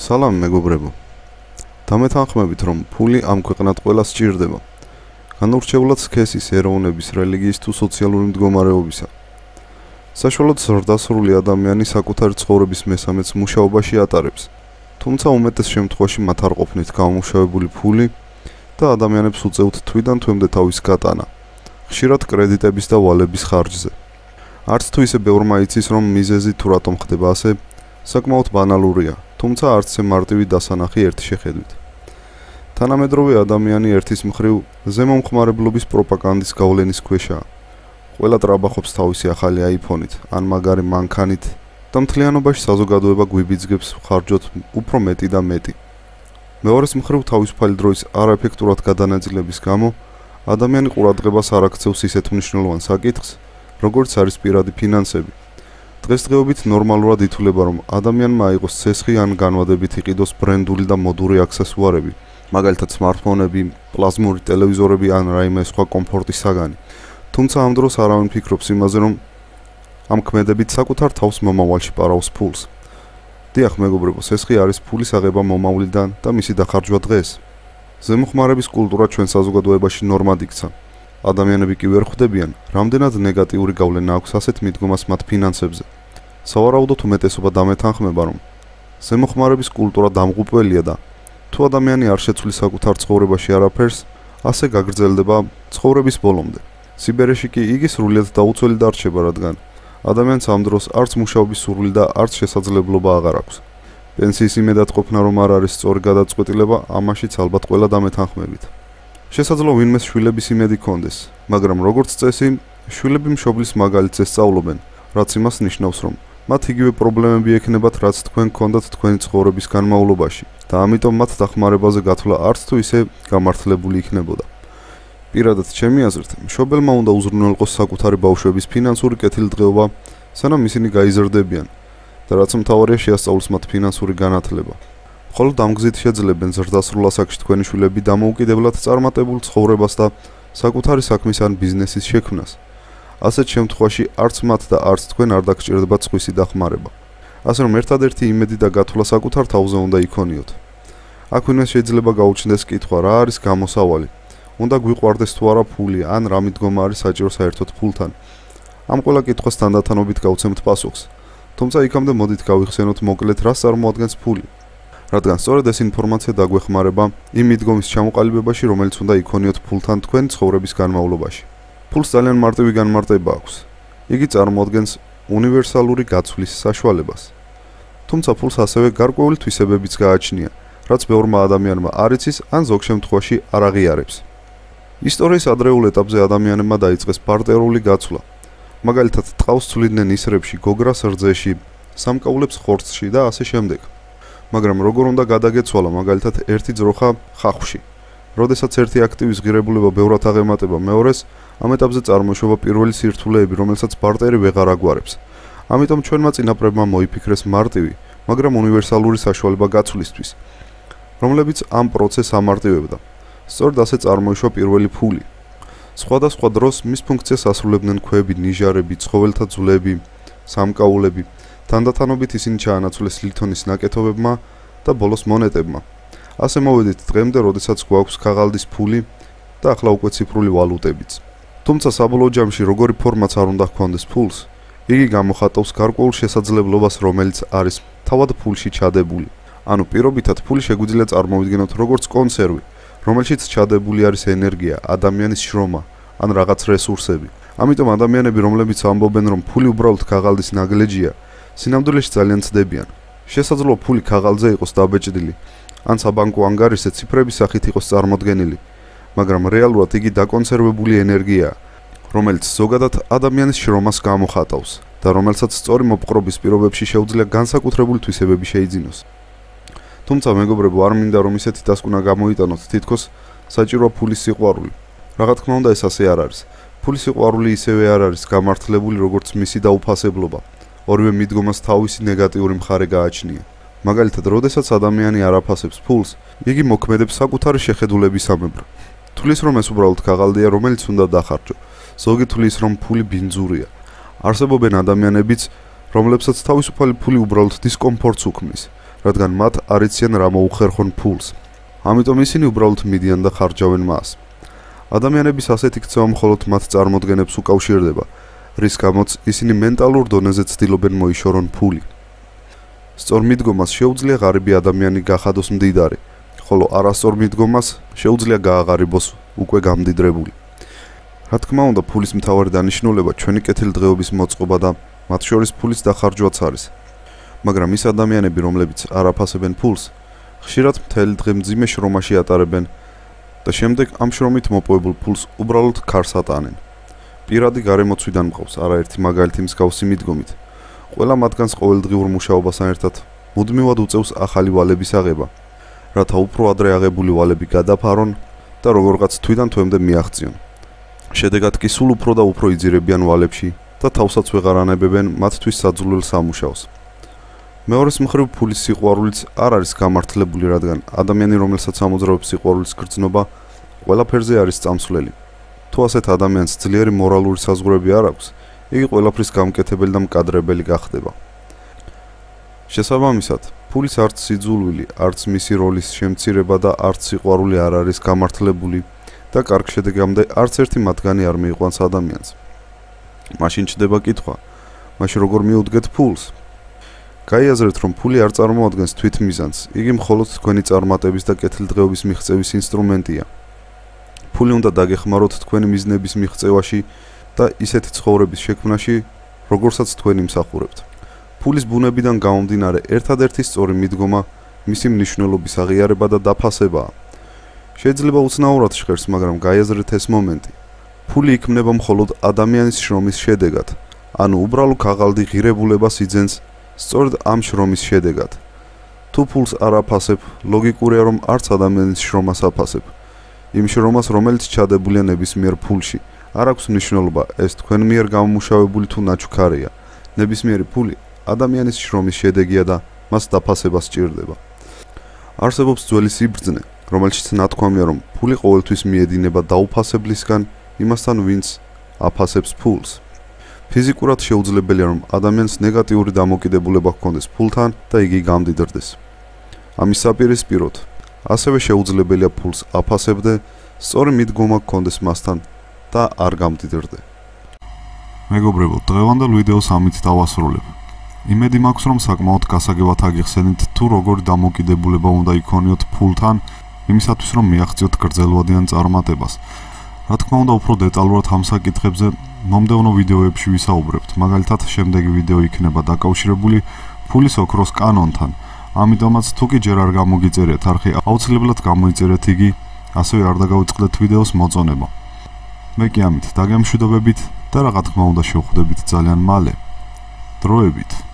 სალამ მეგობრებო. დამეთანხმებით, რომ ფული ამ ქვეყნად ყველას სჭირდება. განურჩევლად სქესის, ეროვნების, რელიგიის თუ სოციალური მდგომარეობისა. საშუალოდ ზრდასრული ადამიანი საკუთარი ცხოვრების მესამეც მუშაობაში ატარებს. თუმცა უმეტეს შემთხვევაში მათ არ ყოფნით გამომუშავებული ფული და ადამიანებს უწევთ თვიდან თვემდე თავის გატანა. ხშირად კრედიტების და ვალების ხარჯზე. არც თუ ისე ბევრმა იცის, რომ მიზეზი თუ რატომ ხდება ასე, საკმაოდ ბანალურია, თუმცა არც ისე მარტივი დასანახი ერთი შეხედვით. თანამედროვე ადამიანი ერთის მხრივ ზემომხმარებლობის პროპაგანდის გავლენის ქვეშაა. ყველა ტრაბახობს თავისი ახალი აიფონით, ან მაგარი მანქანით და მთლიანობაში საზოგადოება გვიბიძგებს ხარჯოთ უფრო მეტი და მეტი. მეორეს მხრივ თავისუფალი დროის არაეფექტურად გადანაწილების გამო ადამიანი ყურადღებას არ აქცევს ისეთ მნიშვნელოვან საკითხს, როგორც არის პირადი ფინანსები. დღესდღეობით ნორმალურად ითვლება, რომ ადამიანმა აიღოს ცესხი ან განვადებით იყიდოს ბრენდული და მოდური აქსესუარები, მაგალითად smartphone-ები, პლაზმური ტელევიზორები ან რაიმე სხვა კომფორტის საგანი. თუმცა ამ დროს არავინ ფიქრობს იმაზე, რომ ამ ქმედებით საკუთარ თავს მომავალში პარავს ფულს. დიახ, მეგობრებო, ცესხი არის ფულის აღება მომავლიდან და მისი დახარჯვა დღეს. ზემოხმარების კულტურა ჩვენ საზოგადოებაში ნორმად იქცა. ადამიანები კი ვერ ხვდებიან, რამდენად ნეგატიური გავლენა აქვს ასეთ მიდგომას მათ ფინანსებზე. სავარაუდოდ უმეტესობა დამეთანხმება, რომ ზემოხმარების კულტურა დამღუპველია და თუ ადამიანი არ შეცვლის საკუთარ ცხოვრებაში არაფერს, ასე გაგრძელდება ცხოვრების ბოლომდე. სიბერეში კი იგი სრულიად დაუცველი დარჩება, რადგან ადამიანს ამ დროს არც მუშაობის სურვილი და არც შესაძლებლობა აღარ აქვს. პენსიის იმედად ყოფნა რომ არ არის სწორი გადაწყვეტილება, ამაშიც ალბათ ყველა დამეთანხმებით. შესაძლოა ვინმეს შვილების იმედი ჰქონდეს, მაგრამ როგორც წესი, შვილები მშობლის მაგალითს ესწავლობენ, რაც იმას ნიშნავს, რომ მათ იგივე პრობლემები ექნებათ, რაც თქვენ გქონდათ თქვენი ცხოვრების განმავლობაში და ამიტომ მათ დახმარებაზე გათვლა არც თუ ისე გამართლებული იქნებოდა. პირადად ჩემი აზრით, მშობელმა უნდა უზრუნველყოს საკუთარი ბავშვების ფინანსური კეთილდღეობა, სანამ ისინი გაიზრდებიან და რაც მთავარია შეასწავლოს მათ ფინანსური განათლება. მხოლოდ ამ გზით შეძლებენ ზრდასრულ ასაკში თქვენი შვილები დამოუკიდებლად წარმატებულ ცხოვრებას და საკუთარი საქმის ან ბიზნესის შექმნას. ასეთ შემთხვევაში არც მათ და არც თქვენ არ დაგჭირდებათ სხვისი დახმარება. ასე რომ ერთადერთი იმედი და გათვლა საკუთარ თავზე უნდა იქონიოთ. აქვინვე შეიძლება გაუჩნდეს კითხვა, რა არის გამოსავალი? უნდა გვიყვარდეს თუ არა ფული, ან რა მიდგომა არის საჭირო საერთოდ ფულთან. ამ ყველა კითხვას თანდათანობით გავცემთ პასუხს. თუმცა იქამდე მოდით გავიხსენოთ მოკლედ, რას წარმოადგენს ფული. რადგან სწორედ ეს ინფორმაცია დაგვეხმარება იმ მიდგომის ჩამოყალიბებაში, რომელიც უნდა იქონიოთ ფულთან თქვენ ცხოვრების განმავლობაში. ფულს ძალიან მარტივი განმარტება აქვს. იგი წარმოადგენს უნივერსალური გაცვლის საშუალებას. თუმცა ფულს ასევე გარკვეული თვისებებიც გააჩნია, რაც ბევრმა ადამიანმა არ იცის ან ზოგ შემთხვევაში არ აღიარებს. ისტორიის ადრეულ ეტაპზე ადამიანებმა დაიწყეს ბარტერული გაცვლა. მაგალითად, ტყავს ცვლიდნენ ისრებში, გოგრას რძეში, სამკაულებს ხორცში და ასე შემდეგ. მაგრამ როგორ უნდა გადაგეცვალა მაგალითად ერთი ძროხა ხახვში. როდესაც ერთი აქტივის ღირებულება ბევრად აღემატება მეორეს, ამ ეტაპზე წარმოიშობა პირველი სირთულეები, რომელსაც ბარტერი ვეღარ აგვარებს. ამიტომ ჩვენმა წინაპრებმა მოიფიქრეს მარტივი, მაგრამ უნივერსალური საშუალება გაცვლისთვის, რომლებიც ამ პროცესს ამარტივებდა. სწორედ ასე წარმოიშვა პირველი ფული. სხვადასხვა დროს მის ფუნქციას ასრულებდნენ ქვები, ნიჟარები, ცხოველთა ძვლები, სამკაულები. თანდათანობით ისინი ჩაანაცვლეს ლითონის ნაკეთობებმა და ბოლოს მონეტებმა. ასე მოვედით დღემდე, როდესაც გვაქვს ქაღალდის ფული და ახლა უკვე ციფრული ვალუტებიც. თუმცა საბოლოო ჯამში როგორი ფორმაც არ უნდა ჰქონდეს ფულს, იგი გამოხატავს გარკვეულ შესაძლებლობას, რომელიც არის თავად ფულში ჩადებული. ანუ პირობითად ფული შეგვიძლია წარმოვიდგინოთ როგორც კონსერვი, რომელშიც ჩადებული არის ენერგია, ადამიანის შრომა ან რაღაც რესურსები. ამიტომ ადამიანები, რომლებიც ამბობენ, რომ ფული უბრალოდ ქაღალდის ნაგლეჯია, სინამდვილეში ძალიან ცდებიან. შესაძლოა ფული ქაღალდზე იყოს დაბეჭდილი, ან საბანკო ანგარიშზე ციფრების სახით იყოს წარმოდგენილი, მაგრამ რეალურად იგი დაკონსერვებული ენერგიაა, რომელიც ზოგადად ადამიანის შრომას გამოხატავს და რომელსაც სწორი მოპყრობის პირობებში შეუძლია განსაკუთრებული თვისებები შეიძინოს. თუმცა მეგობრებო, არ მინდა რომ ისეთი დასკვნა გამოიტანოთ, თითქოს საჭიროა ფულის სიყვარული. რა თქმა უნდა, ეს ასე არ არის. ფულის სიყვარული ისევე არ არის გამართლებული, როგორც მისი დაუფასებლობა. ორივე მიდგომას თავისი ნეგატიური მხარე გააჩნია. მაგალითად, როდესაც ადამიანი არ აფასებს ფულს, იგი მოქმედებს საკუთარი შეხედულებისამებრ. თulis რომ ეს უბრალოდ ქაღალდია, რომელიც უნდა დახარჯო. ზოგი თulis რომ ფული ბინძურია. არსებობენ ადამიანებიც, რომლებსაც თავისუფალი ფული უბრალოდ დისკომფორტს უქმნის. რადგან მათ არ იციან რა მოუხერხონ ფულს. ამიტომ ისინი უბრალოდ მიდიან და ხარჯავენ მას. ადამიანების ასეთი ქცევა მხოლოდ მათ წარმოდგენებს უკავშირდება, რის გამოც ისინი მენტალურ დონეზე ცდილობენ მოიშორონ ფული. სწორ მიდგომას შეუძლია ღარიბი ადამიანი გახადოს მდიდარი, ხოლო არასწორ მიდგომას შეუძლია გააღარიბოს უკვე გამდიდრებული. რა თქმა უნდა, ფულის მთავარი დანიშნულება ჩვენი კეთილდღეობის მოწყობა და მათ შორის ფულის დახარჯვაც არის. მაგრამ ის ადამიანები, რომლებიც არ აფასებენ ფულს, ხშირად მთელი დღე მძიმე შრომაში ატარებენ და შემდეგ ამ შრომით მოპოვებულ ფულს უბრალოდ ქარს ატანენ. პირადი გარემოცვიდან მყავს არაერთი მაგალითი მსგავსი მიდგომით. ყველა მათგანს ყოველდღიურ მუშაობასთან ერთად მუდმივად უწევს ახალი ვალების აღება, რათა უფრო ადრე აღებული ვალები გადაფარონ და როგორღაც თვიდან თვემდე მიაღწიონ. შედეგად კი სულ უფრო და უფრო იძირებიან ვალებში და თავსაც ვეღარ ანებებენ მათთვის საძულელ სამუშაოს. მეორეს მხრივ ფულის სიყვარულიც არ არის გამართლებული, რადგან ადამიანი, რომელსაც ამოძრავებს სიყვარულის გრძნობა, ყველაფერზე არის წამსვლელი. თუ ასეთ ადამიანს ძლიერი მორალური საზღვრები არ აქვს, იგი ყველაფრის გამკეთებელი და მკადრებელი გახდება. შესაბამისად, ფულის არც სიძულვილი, არც მისი როლის შემცირება და არც სიყვარული არ არის გამართლებული და კარგ შედეგამდე არც ერთი მათგანი არ მიიყვანს ადამიანს. მაშინ ჩდება კითხვა, მაშინ როგორ მიუდგეთ ფულს? გაიაზრეთ, რომ ფული არ წარმოადგენს თვითმიზანს, იგი მხოლოდ თქვენი წარმატების და კეთილდღეობის მიღწევის ინსტრუმენტია. ფული უნდა დაგეხმაროთ თქვენი მიზნების მიღწევაში და ისეთი ცხოვრების შექმნაში, როგორცაც თქვენ იმსახურებთ. ფულის ბუნებიდან გამომდინარე, ერთადერთი სწორი მიდგომა მისი მნიშვნელობის აღიარება და დაფასებაა. შეიძლება უცნაურად ჟღერს, მაგრამ გაიაზრეთ ეს მომენტი. ფული იქმნება მხოლოდ ადამიანის შრომის შედეგად, ანუ უბრალო ქაღალდი ღირებულებას იძენს სწორედ ამ შრომის შედეგად. თუ ფულს არ აფასებ, ლოგიკურია, რომ არც ადამიანის შრომას აფასებ. იმ შრომას, რომელიც ჩადებულია ნებისმიერ ფულში, არ აქვს მნიშვნელობა, ეს თქვენ მიერ გამომუშავებული თუ ნაჩუქარია. ნებისმიერი ფული ადამიანის შრომის შედეგია და მას დაფასება სჭირდება. არსებობს ძველი სიბრძნე, რომელშიც ნათქვამია, რომ ფული ყოველთვის მიედინება დაუფასებლისგან იმასთან, ვინც აფასებს ფულს. ფიზიკურად შეუძლებელია, რომ ადამიანს ნეგატიური დამოკიდებულება ჰქონდეს ფულთან და იგი გამდიდრდეს. ამის საპირისპიროდ, ასევე შეუძლებელია ფულს აფასებდე, სწორი მიდგომა ჰქონდეს მასთან და არ გამდიდრდე. მეგობრებო, დღევანდელ ვიდეოს ამით დავასრულებ. იმედი მაქვს, რომ საკმაოდ გასაგებად აგიხსენით თუ როგორი დამოკიდებულება უნდა იქონიოთ ფულთან, იმისათვის რომ მიაღწიოთ გრძელვადიან წარმატებას. რა თქმა უნდა, უფრო დეტალურად ამ საკითხებზე მომდევნო ვიდეოებში ვისაუბრებთ. მაგალითად, შემდეგი ვიდეო იქნება დაკავშირებული ფულის ოქროს კანონთან. ამიტომაც თუ კი ჯერ არ გამოგიწერეთ არხი, აუცილებლად გამოიწერეთ იგი, ასევე არ დაგავიწყდეთ ვიდეოს მოწონება. მე კი ამით დაგემშვიდობებით და რა თქმა უნდა შევხვდებით ძალიან მალე. დროებით.